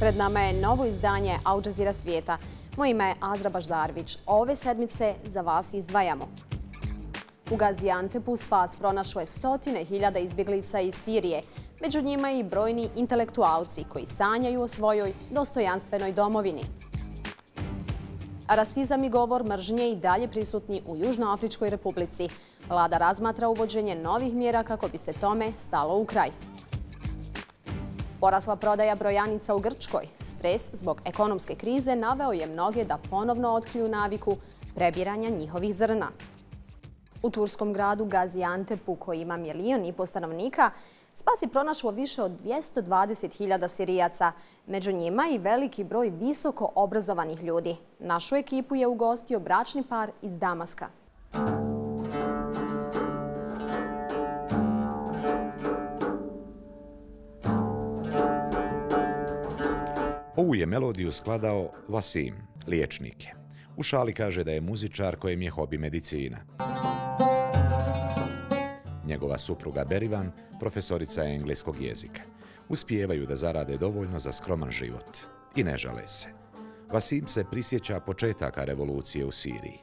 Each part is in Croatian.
Pred nama je novo izdanje Al Jazeera svijeta. Moje ime je Azra Baždarvić. Ove sedmice za vas izdvajamo. U Gaziantepu spas pronašlo je stotine hiljada izbjeglica iz Sirije. Među njima i brojni intelektualci koji sanjaju o svojoj dostojanstvenoj domovini. Rasizam i govor mržnje i dalje prisutni u Južnoafričkoj republici. Vlada razmatra uvođenje novih mjera kako bi se tome stalo u kraj. Porasla prodaja brojanica u Grčkoj. Stres zbog ekonomske krize naveo je mnoge da ponovno otkriju naviku prebiranja njihovih zrna. U turskom gradu Gaziantepu, koji ima 1,5 milijuna stanovnika, spas je pronašlo više od 220.000 Sirijaca. Među njima i veliki broj visoko obrazovanih ljudi. Našu ekipu je ugostio bračni par iz Damaska. Ovu je melodiju skladao Vasim, liječnik. U šali kaže da je muzičar kojem je hobi medicina. Njegova supruga Berivan, profesorica je engleskog jezika. Uspijevaju da zarade dovoljno za skroman život i ne žale se. Vasim se prisjeća početaka revolucije u Siriji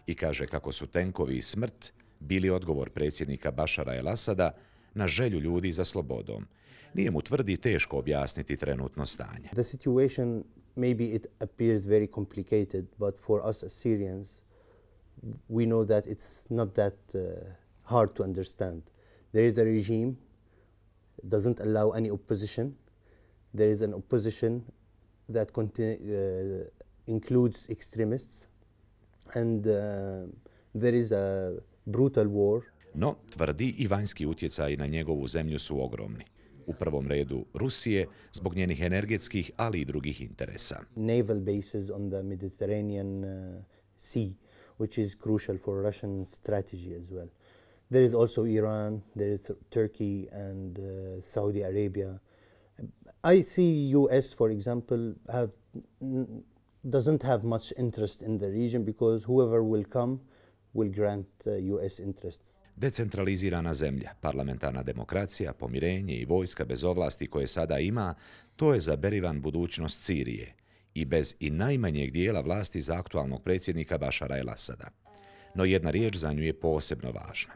i kaže kako su tenkovi i smrt bili odgovor predsjednika Bašara el-Asada na želju ljudi za slobodom. Nije mu tvrdi teško objasniti trenutno stanje. The situation, maybe it appears very complicated, but for us as Syrians, we know that it's not that hard to understand. There is a regime doesn't allow any opposition. There is an opposition that includes extremists, and there is a brutal war. No, tvrdi i vanjski utjecaji na njegovu zemlju su ogromni. U prvom redu Rusije zbog njenih energetskih, ali i drugih interesa. Naval bases on the Mediterranean Sea, which is crucial for Russian strategy as well. There is also Iran, there is Turkey and Saudi Arabia. I see US, for example, doesn't have much interest in the region because whoever will come will grant US interests. Decentralizirana zemlja, parlamentarna demokracija, pomirenje i vojska bez ovlasti koje sada ima, to je za Berivan budućnost Sirije i bez i najmanjeg dijela vlasti za aktualnog predsjednika Bašara el-Asada. No jedna riječ za nju je posebno važna.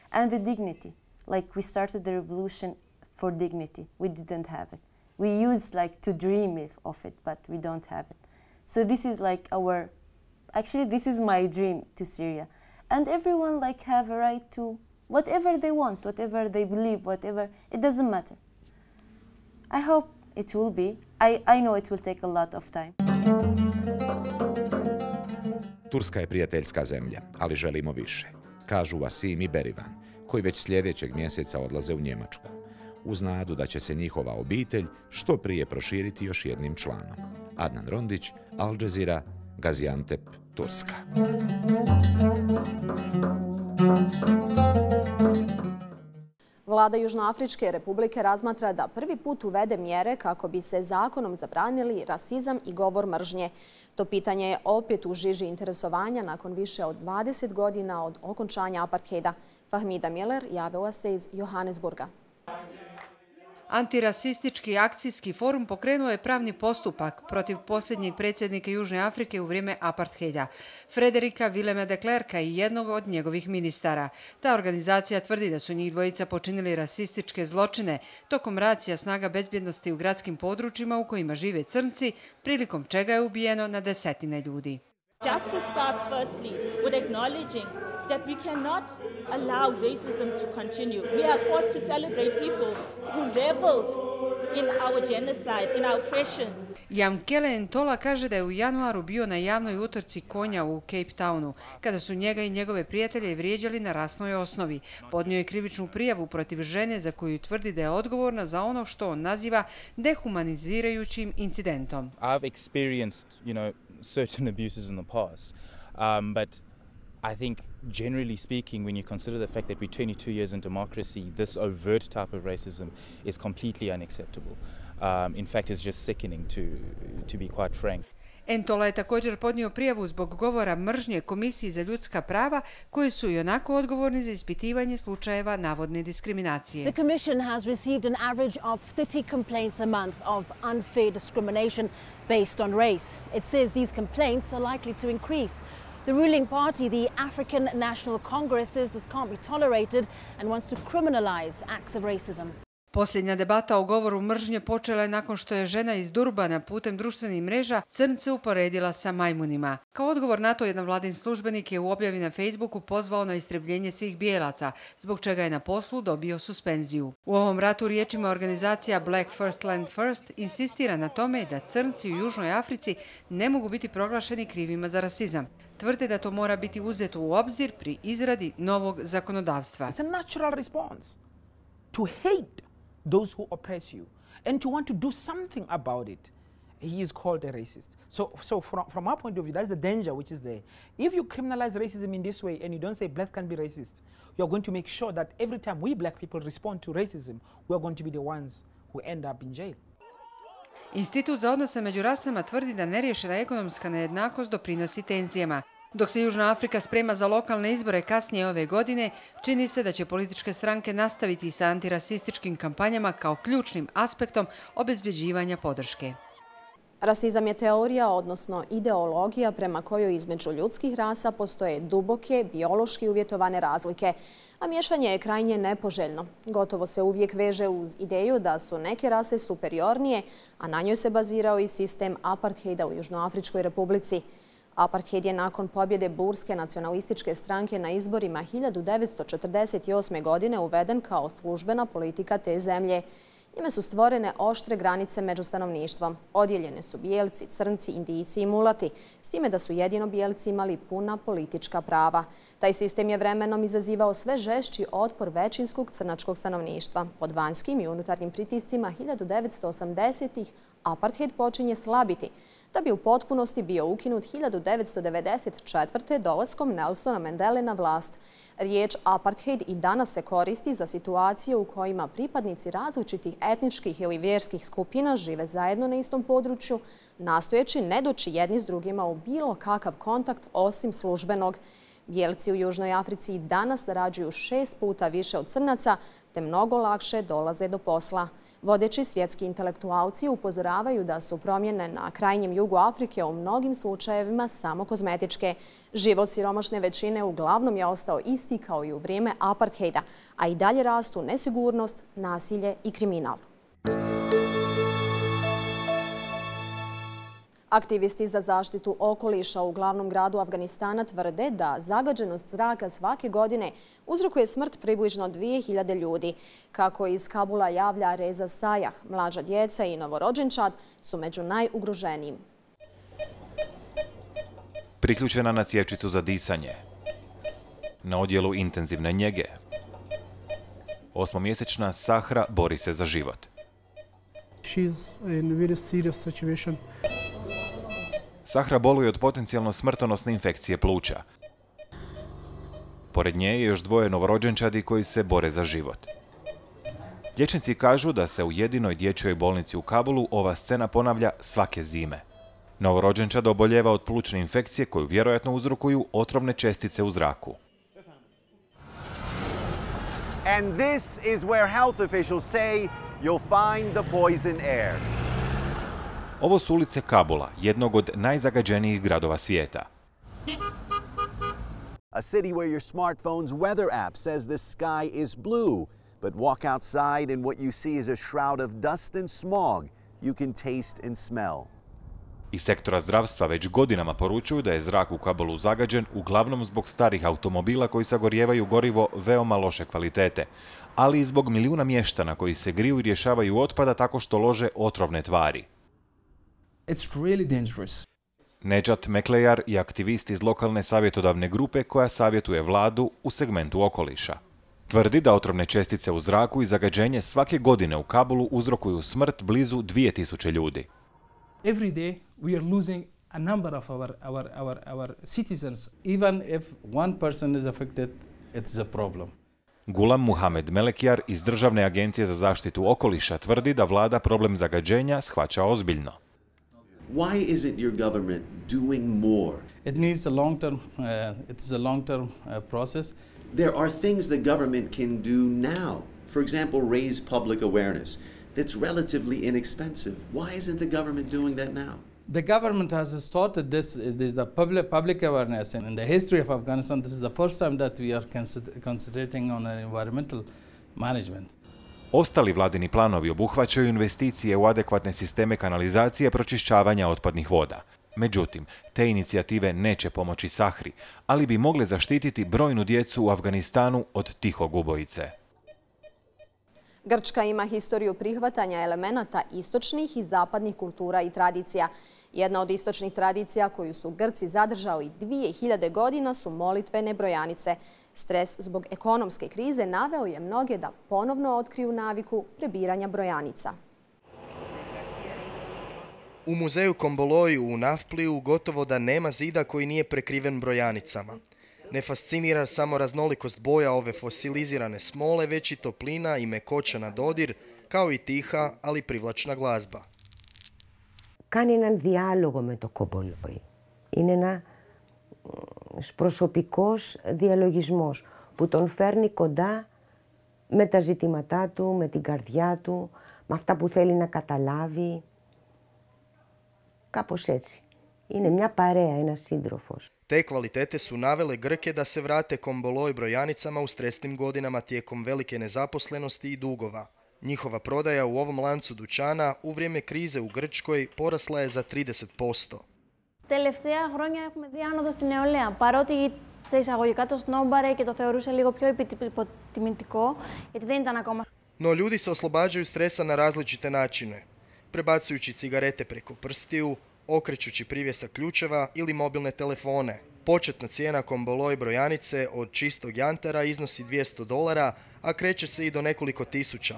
And the dignity, like we started the revolution for dignity, we didn't have it. We used like to dream of it, but we don't have it. So this is like actually this is my dream to Syria. And everyone like have a right to whatever they want, whatever they believe, whatever, it doesn't matter. I hope it will be. I know it will take a lot of time. Turska je prijateljska zemlja, ali želimo više, kažu Vasim i Berivan, koji već sljedećeg mjeseca odlaze u Njemačku, uz nadu da će se njihova obitelj što prije proširiti još jednim članom. Adnan Rondić, Al Jazeera, Gaziantep, Turska. Vlada Južnoafričke republike razmatra da prvi put uvede mjere kako bi se zakonom zabranili rasizam i govor mržnje. To pitanje je opet u žiži interesovanja nakon više od 20 godina od okončanja apartheida. Fahmida Miller javila se iz Johannesburga. Antirasistički akcijski forum pokrenuo je pravni postupak protiv posljednjeg predsjednika Južne Afrike u vrijeme apartheida, Frederika Willema de Klerka i jednog od njegovih ministara. Ta organizacija tvrdi da su njih dvojica počinili rasističke zločine tokom racija snaga bezbjednosti u gradskim područjima u kojima žive crnci, prilikom čega je ubijeno na desetine ljudi. Justice starts firstly with acknowledging that we cannot allow racism to continue. We are forced to celebrate people who reveled in our genocide, in our oppression. Yamkele Ntola kaže da je u januaru bio na javnoj utrci konja u Cape Townu, kada su njega i njegove prijatelje vrijeđali na rasnoj osnovi. Podnio je krivičnu prijavu protiv žene za koju tvrdi da je odgovorna za ono što on naziva dehumanizirajućim incidentom. I've experienced, certain abuses in the past, but I think generally speaking, when you consider the fact that we're 22 years in democracy, this overt type of racism is completely unacceptable. In fact, it's just sickening to be quite frank. Entola je također podnio prijavu zbog govora mržnje Komisiji za ljudska prava, koji su i onako odgovorni za ispitivanje slučajeva navodne diskriminacije. The Commission has received an average of 30 complaints a month of unfair discrimination based on race. It says these complaints are likely to increase. The ruling party, the African National Congress, says this can't be tolerated and wants to criminalize acts of racism. Posljednja debata o govoru mržnje počela je nakon što je žena iz Durbana putem društvenih mreža crnce uporedila sa majmunima. Kao odgovor na to, jedan vladin službenik je u objavi na Facebooku pozvao na istrebljenje svih bijelaca, zbog čega je na poslu dobio suspenziju. U ovom ratu, riječima organizacija Black First Land First, insistira na tome da crnci u Južnoj Africi ne mogu biti proglašeni krivima za rasizam. Tvrde da to mora biti uzeto u obzir pri izradi novog zakonodavstva. It's a natural response to hate those who oppress you and to want to do something about it. He is called a racist. So from our point of view, that's the danger which is there. If you criminalize racism in this way and you don't say blacks can be racist, you are going to make sure that every time we black people respond to racism, we are going to be the ones who end up in jail. Institut za odnose među rasama tvrdi da neriješena ekonomska nejednakost doprinosi tenzijama. Dok se Južna Afrika sprema za lokalne izbore kasnije ove godine, čini se da će političke stranke nastaviti sa antirasističkim kampanjama kao ključnim aspektom obezbeđivanja podrške. Rasizam je teorija, odnosno ideologija prema kojoj između ljudskih rasa postoje duboke, biološki uvjetovane razlike, a miješanje je krajnje nepoželjno. Gotovo se uvijek veže uz ideju da su neke rase superiornije, a na njoj se bazirao i sistem apartheida u Južnoafričkoj republici. Apartheid je nakon pobjede burske nacionalističke stranke na izborima 1948. godine uveden kao službena politika te zemlje. Njime su stvorene oštre granice među stanovništvom. Odijeljene su bijelci, crnci, indijci i mulati, s time da su jedino bijelci imali puna politička prava. Taj sistem je vremenom izazivao sve žešći otpor većinskog crnačkog stanovništva. Pod vanjskim i unutarnjim pritiscima 1980-ih apartheid počinje slabiti, da bi u potpunosti bio ukinut 1994. dolaskom Nelsona Mandele na vlast. Riječ apartheid i danas se koristi za situacije u kojima pripadnici različitih etničkih ili vjerskih skupina žive zajedno na istom području, nastojeći ne doći jedni s drugima u bilo kakav kontakt osim službenog. Bijelci u Južnoj Africi danas zarađuju 6 puta više od crnaca, te mnogo lakše dolaze do posla. Vodeći svjetski intelektualci upozoravaju da su promjene na krajnjem jugu Afrike u mnogim slučajevima samo kozmetičke. Život siromašne većine uglavnom je ostao isti kao i u vrijeme apartheida, a i dalje rastu nesigurnost, nasilje i kriminal. Aktivisti za zaštitu okoliša u glavnom gradu Afganistana tvrde da zagađenost zraka svake godine uzrokuje smrt približno 2000 ljudi. Kako iz Kabula javlja Reza Sajah, mlađa djeca i novorođenčad su među najugroženijim. Priključena na cjevčicu za disanje, na odjelu intenzivne njege, 8-mjesečna Sahra bori se za život. She's in a very serious situation. Sahra boluje od potencijalno smrtonosne infekcije pluća. Pored nje je još 2 novorođenčadi koji se bore za život. Liječnici kažu da se u jedinoj dječjoj bolnici u Kabulu ova scena ponavlja svake zime. Novorođenčad oboljeva od plućne infekcije koju vjerojatno uzrokuju otrovne čestice u zraku. And this is where health officials say you'll find the poison air. Ovo su ulice Kabula, jednog od najzagađenijih gradova svijeta. A city where your smartphone's weather app says the sky is blue, but walk outside and what you see is a shroud of dust and smog you can taste and smell. Iz sektora zdravstva već godinama poručuju da je zrak u Kabulu zagađen uglavnom zbog starih automobila koji sagorijevaju gorivo veoma loše kvalitete, ali i zbog milijuna mještana koji se griju i rješavaju otpada tako što lože otrovne tvari. It's really dangerous. Nejat Meklejar je aktivist iz lokalne savjetodavne grupe koja savjetuje vladu u segmentu okoliša. Tvrdi da otrovne čestice u zraku i zagađenje svake godine u Kabulu uzrokuju smrt blizu 2000 ljudi. Every day we are losing a number of our citizens. Even if one person is affected, it's a problem. Gulam Muhamed Melekjar iz Državne agencije za zaštitu okoliša tvrdi da vlada problem zagađenja shvaća ozbiljno. Why isn't your government doing more? It needs a long-term, it's a long-term process. There are things the government can do now. For example, raise public awareness. That's relatively inexpensive. Why isn't the government doing that now? The government has started the public awareness, and in the history of Afghanistan, this is the first time that we are concentrating on environmental management. Ostali vladini planovi obuhvaćaju investicije u adekvatne sisteme kanalizacije pročišćavanja otpadnih voda. Međutim, te inicijative neće pomoći Sahri, ali bi mogle zaštititi brojnu djecu u Afganistanu od tihog ubojice. Grčka ima historiju prihvatanja elemenata istočnih i zapadnih kultura i tradicija. Jedna od istočnih tradicija koju su Grci zadržali 2000 godina su molitvene brojanice. Stres zbog ekonomske krize naveo je mnoge da ponovno otkriju naviku prebiranja brojanica. U muzeju Komboloi u Nafpliju gotovo da nema zida koji nije prekriven brojanicama. Ne fascinira samo raznolikost boja ove fosilizirane smole, već i toplina i mekoća na dodir, kao i tiha, ali privlačna glazba. Κάνει έναν διάλογο με το κομπολόι. Είναι ένα προσωπικός διαλογισμός που τον φέρνει κοντά με τα ζητήματά του, με την καρδιά του, με αυτά που θέλει να καταλάβει. Κάπως έτσι. Είναι μια παρέα, ένας σύντροφος. Te kvalitete su navele Grke da se vrate Komboloi brojanicama u stresnim godinama tijekom velike nezaposlenosti i dugova. Njihova prodaja u ovom lancu dućana u vrijeme krize u Grčkoj porasla je za 30%. Τελευταία χρόνια έχουμε δει άνοδο στην νεολαία. Παρότι σε εισαγωγικά το σνόμπαρε και το θεωρούσε λίγο πιο υποτιμητικό, γιατί δεν ήταν ακόμα. No ljudi se oslobađaju stresa na različite načine, prebacujući cigarete preko prstiju, okrećući privjesak ključeva ili mobilne telefone. Početna cijena Komboloi brojanice od čistog jantara iznosi $200, a kreće se i do nekoliko tisuća.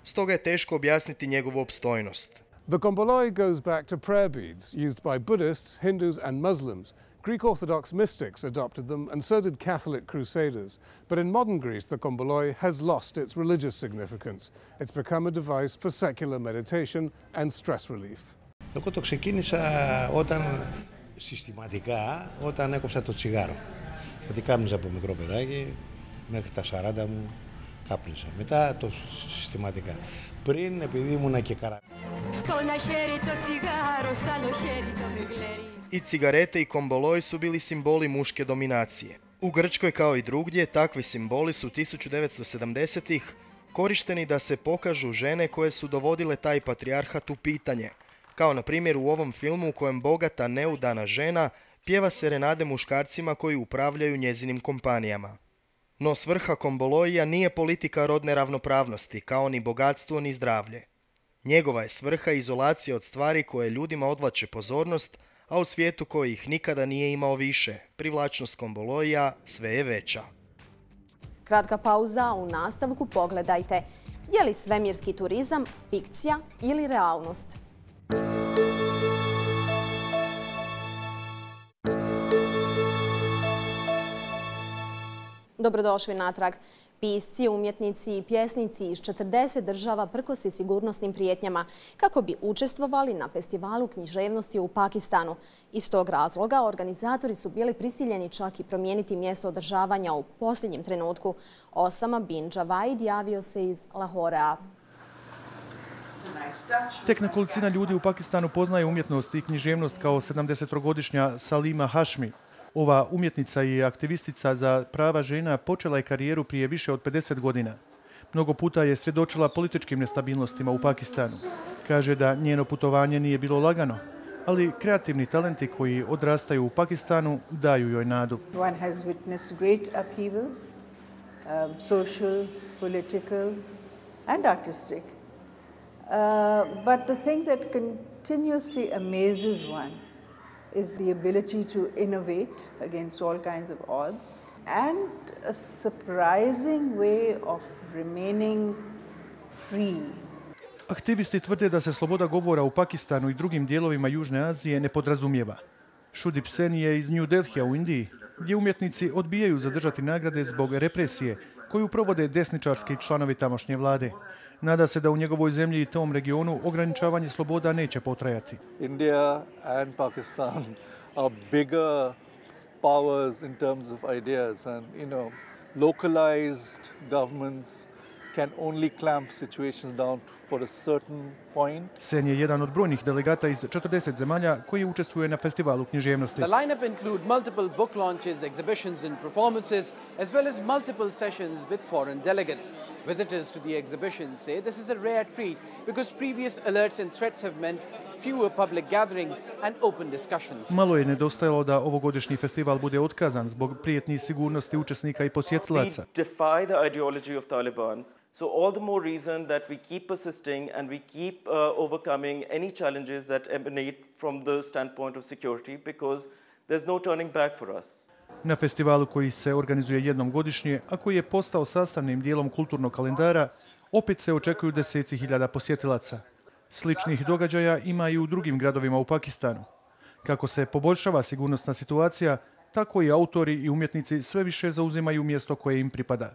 Stoga je teško objasniti njegovu opstojnost. The Komboloi goes back to prayer beads used by Buddhists, Hindus and Muslims. Greek Orthodox mystics adopted them and so did Catholic crusaders. But in modern Greece, the Komboloi has lost its religious significance. It's become a device for secular meditation and stress relief. Εγώ το ξεκίνησα συστηματικά όταν έκοψα το τσιγάρο. Γιατί κάπνιζα από μικρό παιδάκι, μέχρι τα 40 μου κάπνιζα. Μετά το συστηματικά. Πριν, επειδή ήμουνα και Στο ένα χέρι το τσιγάρο, σ' άλλο χέρι το μιγλέρι. I cigarete i Komboloi su bili simboli muške dominacije. U Grčkoj kao i drugdje takvi simboli su 1970-ih korišteni da se pokažu žene koje su dovodile taj patrijarhat u pitanje. Kao na primjer u ovom filmu u kojem bogata neudana žena pjeva serenade muškarcima koji upravljaju njezinim kompanijama. No svrha Komboloija nije politika rodne ravnopravnosti, kao ni bogatstvo ni zdravlje. Njegova je svrha izolacija od stvari koje ljudima odvlače pozornost, a u svijetu koji ih nikada nije imao više, privlačnost Komboloija sve je veća. Kratka pauza, u nastavku pogledajte. Je li svemirski turizam fikcija ili realnost? Dobrodošli natrag. Pisci, umjetnici i pjesnici iz 40 država prkosi sigurnosnim prijetnjama kako bi učestvovali na festivalu književnosti u Pakistanu. Iz tog razloga organizatori su bili prisiljeni čak i promijeniti mjesto održavanja u posljednjem trenutku. Osama bin Javaid javio se iz Lahorea. Tek nekolicina ljudi u Pakistanu poznaje umjetnost i književnost kao 70-godišnja Salima Hashmi. Ova umjetnica i aktivistica za prava žena počela je karijeru prije više od 50 godina. Mnogo puta je svjedočila političkim nestabilnostima u Pakistanu. Kaže da njeno putovanje nije bilo lagano, ali kreativni talenti koji odrastaju u Pakistanu daju joj nadu. One has witnessed great upheavals, social, political and artistic. But the thing that continuously amazes one is the ability to innovate against all kinds of odds and a surprising way of remaining free. Aktivisti tvrde da se sloboda govora u Pakistanu i drugim dijelovima Južne Azije ne podrazumijeva. Shudip Sen je iz New Delhija u Indiji, gdje umjetnici odbijaju zadržati nagrade zbog represije koju provode desničarski članovi tamošnje vlade. Nada se da u njegovoj zemlji i tom regionu ograničavanje sloboda neće potrajati. India and Pakistan are bigger powers in terms of ideas, and localized governments can only clamp situations down for a certain point. Sen je jedan od brojnih delegata iz 40 zemalja koji učestvuje na festivalu književnosti. The lineup include multiple book launches, exhibitions and performances, as well as multiple sessions with foreign delegates. Visitors to the exhibition say this is a rare treat because previous alerts and threats have meant fewer public gatherings and open discussions. Malo je nedostajalo da ovogodišnji festival bude otkazan zbog prijetnji sigurnosti učesnika i posjetilaca. We defy the ideology of Taliban. So all the more reason that we keep persisting and we keep overcoming any challenges that emanate from the standpoint of security, because there's no turning back for us. Na festivalu koji se organizuje jednom godišnje, a koji je postao sastavnim dijelom kulturnog kalendara, opet se očekuju deseci hiljada posjetilaca. Sličnih događaja ima i u drugim gradovima u Pakistanu. Kako se poboljšava sigurnosna situacija, tako i autori i umjetnici sve više zauzimaju mjesto koje im pripada.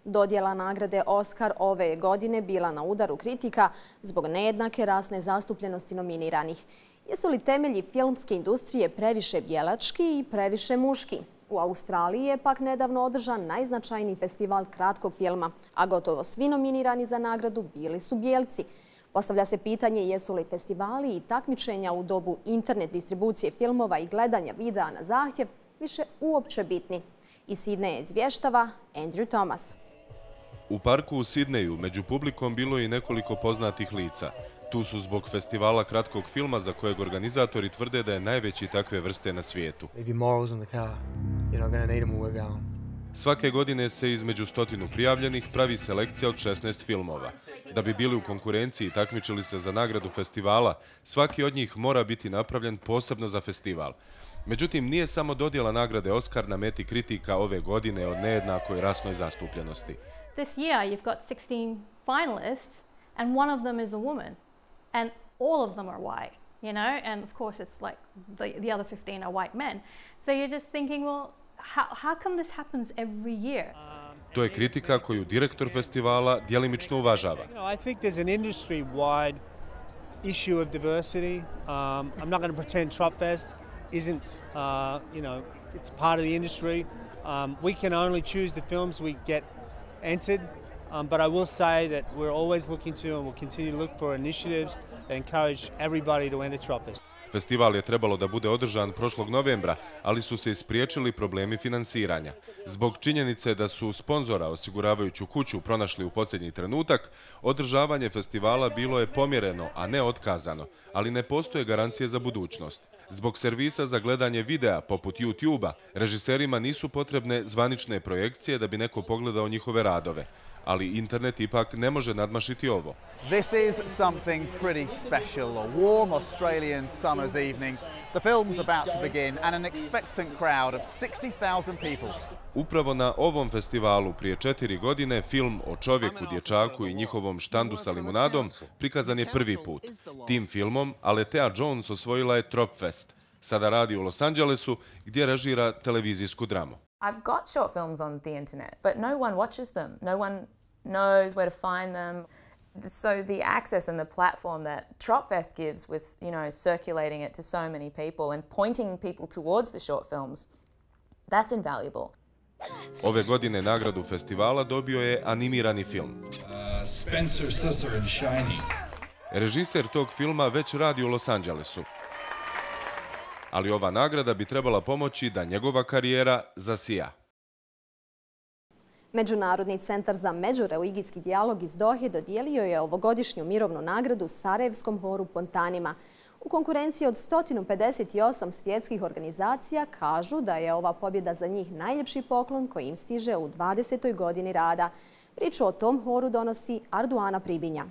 Dodjela nagrade Oscar ove godine bila na udaru kritika zbog nejednake rasne zastupljenosti nominiranih. Jesu li temelji filmske industrije previše bijelački i previše muški? U Australiji je pak nedavno održan najznačajniji festival kratkog filma, a gotovo svi nominirani za nagradu bili su bijelci. Postavlja se pitanje jesu li festivali i takmičenja u dobu internet distribucije filmova i gledanja videa na zahtjev više uopće bitni. Iz Sidneja izvještava Andrew Thomas. U parku u Sidneju među publikom bilo je i nekoliko poznatih lica. Tu su zbog festivala kratkog filma za kojeg organizatori tvrde da je najveći takve vrste na svijetu. Svake godine se između 100 prijavljenih pravi selekcija od 16 filmova. Da bi bili u konkurenciji i takmičili se za nagradu festivala, svaki od njih mora biti napravljen posebno za festival. Međutim, nije samo dodjela nagrade Oscar na meti kritika ove godine o nejednakoj rasnoj zastupljenosti. This year you've got 16 finalists and one of them is a woman and all of them are white, and of course it's like the other 15 are white men. So you're just thinking, well, how come this happens every year? To je kritika koju direktor festivala djelimično uvažava. I think there's an industry-wide issue of diversity. I'm not going to pretend Tropfest isn't, it's part of the industry. We can only choose the films we get entered, but I will say that we're always looking to and we'll continue to look for initiatives that encourage everybody to enter Tropfest. Festival je trebalo da bude održan prošlog novembra, ali su se ispriječili problemi finansiranja. Zbog činjenice da su sponzora osiguravajuću kuću pronašli u posljednji trenutak, održavanje festivala bilo je pomjereno, a ne otkazano, ali ne postoje garancije za budućnost. Zbog servisa za gledanje videa poput YouTube-a, režiserima nisu potrebne zvanične projekcije da bi neko pogledao njihove radove. Ali internet ipak ne može nadmašiti ovo. This is something pretty special, a warm Australian summer's evening. The film's about to begin and an expectant crowd of 60,000 people. Upravo na ovom festivalu prije 4 godine film o čovjeku, dječaku i njihovom štandu sa limunadom prikazan je prvi put. Tim filmom Aletea Jones osvojila je Tropfest. Sada radi u Los Angelesu gdje režira televizijsku dramu. I've got short films on the internet, but no one watches them. No one knows where to find them. So the access and the platform that Tropfest gives with, circulating it to so many people and pointing people towards the short films, that's invaluable. Ove godine nagradu festivala dobio je animirani film. Spencer Susser in Shiny. Režiser tog filma već radi u Los Angelesu. Ali ova nagrada bi trebala pomoći da njegova karijera zasija. Međunarodni centar za međureligijski dijalog iz Dohe dodijelio je ovogodišnju mirovnu nagradu Sarajevskom horu Pontanima. U konkurenciji od 158 svjetskih organizacija kažu da je ova pobjeda za njih najljepši poklon koji im stiže u 20. godini rada. Priču o tom horu donosi Arduana Pribinja.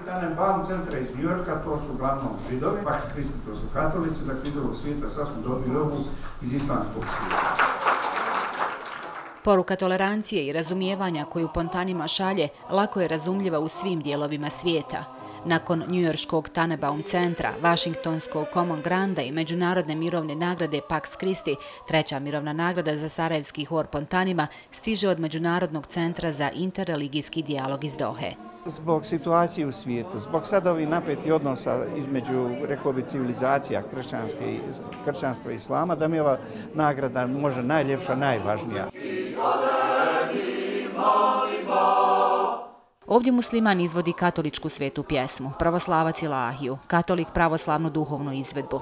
Tenenbaum centra iz Njujorka, to su uglavnom židovi, Pax Christi, to su katolici, dakle iz ovog svijeta sad smo dobili ovu iz islamskog svijeta. Poruka tolerancije i razumijevanja koju Pontanima šalje lako je razumljiva u svim dijelovima svijeta. Nakon njujorškog Tannenbaum centra, vašingtonskog Common Granda i Međunarodne mirovne nagrade Pax Christi, treća mirovna nagrada za sarajevski hor Pontanima stiže od Međunarodnog centra za interreligijski dijalog iz Dohe. Zbog situacije u svijetu, zbog sad ovih napetih odnosa između, rekao bi, civilizacija kršćanstva i islama, da mi ova nagrada može najljepša, najvažnija. Ovdje musliman izvodi katoličku svetu pjesmu, pravoslavac ilahiju, katolik pravoslavnu duhovnu izvedbu.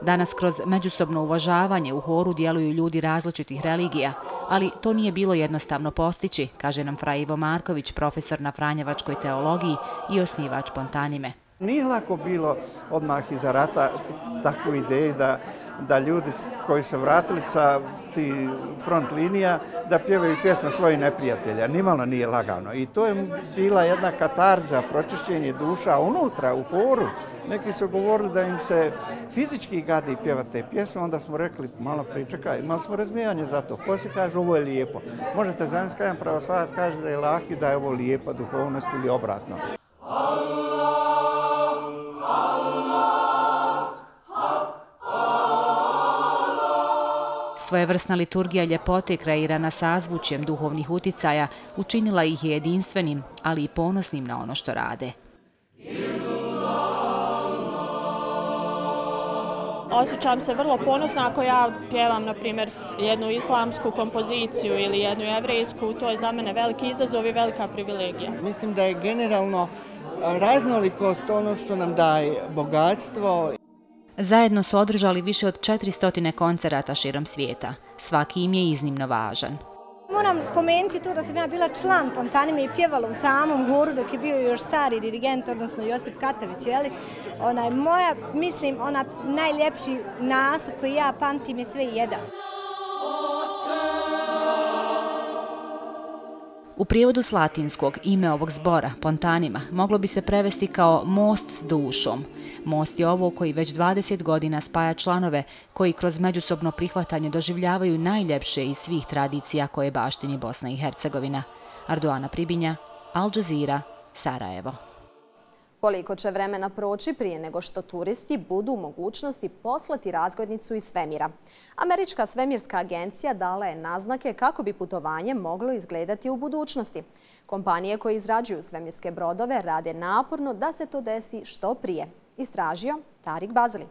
Danas kroz međusobno uvažavanje u horu djeluju ljudi različitih religija, ali to nije bilo jednostavno postići, kaže nam Fra Ivo Marković, profesor na Franjevačkoj teologiji i osnivač Pontanime. Nije lako bilo odmah iza rata takvu ideju da ljudi koji se vratili sa ti front linija da pjevaju pjesme svojih neprijatelja. Nimalo nije lagano. I to je bila jedna katarza, pročišćenje duša unutra, u horu. Neki su govorili da im se fizički gadi pjevati te pjesme, onda smo rekli, malo pričekaj, imali smo razmijevanje za to. Poslije kaže, ovo je lijepo. Možete zamisliti jedan pravoslavac kaže za ilahiju da je ovo lijepa duhovnost ili obratno. Svojevrsna liturgija ljepote kreirana sazvučjem duhovnih uticaja učinila ih je jedinstvenim, ali i ponosnim na ono što rade. Osjećam se vrlo ponosno ako ja pjevam, na primjer, jednu islamsku kompoziciju ili jednu jevrejsku. To je za mene veliki izazov i velika privilegija. Mislim da je generalno raznolikost ono što nam daje bogatstvo. Zajedno su održali više od 400 koncerata širom svijeta. Svaki im je iznimno važan. Moram spomenuti to da sam ja bila član Pontanime i pjevala u samom horu dok je bio još stari dirigent, odnosno Josip Katavić. Moja, mislim, najljepši nastup koji ja pamtim je sve jedan. U prijevodu s latinskog ime ovog zbora, Pontanima, moglo bi se prevesti kao most s dušom. Most je ovo koji već 20 godina spaja članove koji kroz međusobno prihvatanje doživljavaju najljepše iz svih tradicija koje baštini Bosna i Hercegovina. Arduana Pribinja, Al Jazeera, Sarajevo. Koliko će vremena proći prije nego što turisti budu u mogućnosti poslati razglednicu iz svemira? Američka svemirska agencija dala je naznake kako bi putovanje moglo izgledati u budućnosti. Kompanije koje izrađuju svemirske brodove rade naporno da se to desi što prije. Istražio Tarik Bazili.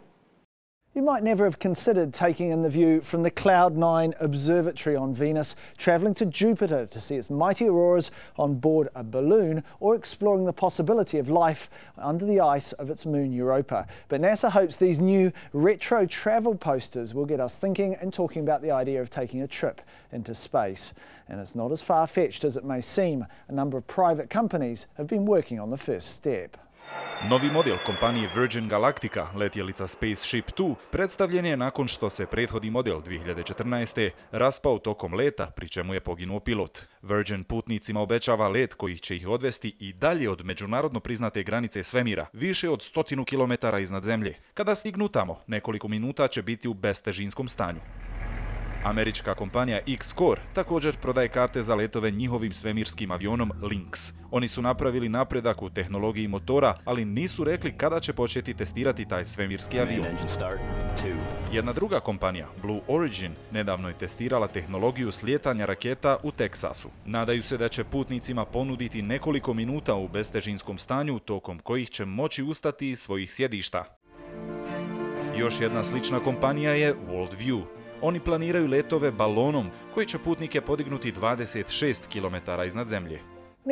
You might never have considered taking in the view from the Cloud9 Observatory on Venus, travelling to Jupiter to see its mighty auroras on board a balloon, or exploring the possibility of life under the ice of its moon Europa. But NASA hopes these new retro travel posters will get us thinking and talking about the idea of taking a trip into space. And it's not as far-fetched as it may seem. A number of private companies have been working on the first step. Novi model kompanije Virgin Galactica, letjelica Spaceship 2, predstavljen je nakon što se prethodni model 2014. raspao tokom leta, pri čemu je poginuo pilot. Virgin putnicima obećava let koji će ih odvesti i dalje od međunarodno priznate granice svemira, više od 100 km iznad zemlje. Kada stignu tamo, nekoliko minuta će biti u bestežinskom stanju. Američka kompanija X-Core također prodaje karte za letove njihovim svemirskim avionom Lynx. Oni su napravili napredak u tehnologiji motora, ali nisu rekli kada će početi testirati taj svemirski avion. Jedna druga kompanija, Blue Origin, nedavno je testirala tehnologiju slijetanja raketa u Teksasu. Nadaju se da će putnicima ponuditi nekoliko minuta u bestežinskom stanju, tokom kojih će moći ustati iz svojih sjedišta. Još jedna slična kompanija je Worldview. Oni planiraju letove balonom koji će putnike podignuti 26 km iznad zemlje.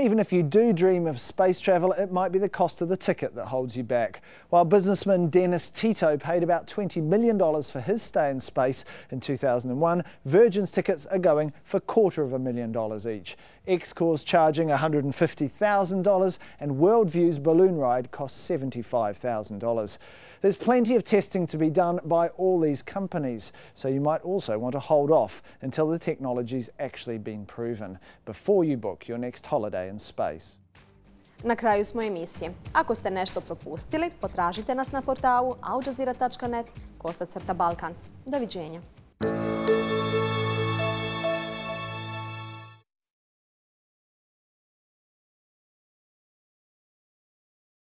Even if you do dream of space travel, it might be the cost of the ticket that holds you back. While businessman Dennis Tito paid about $20 million for his stay in space in 2001, Virgin's tickets are going for $250,000 each. X-Core's charging $150,000 and Worldview's balloon ride costs $75,000. There's plenty of testing to be done by all these companies, so you might also want to hold off until the technology's actually been proven before you book your next holiday in space. Na kraju smo emisije. Ako ste nešto propustili, potražite nas na portalu aljazeera.net/Balkans. Doviđenja.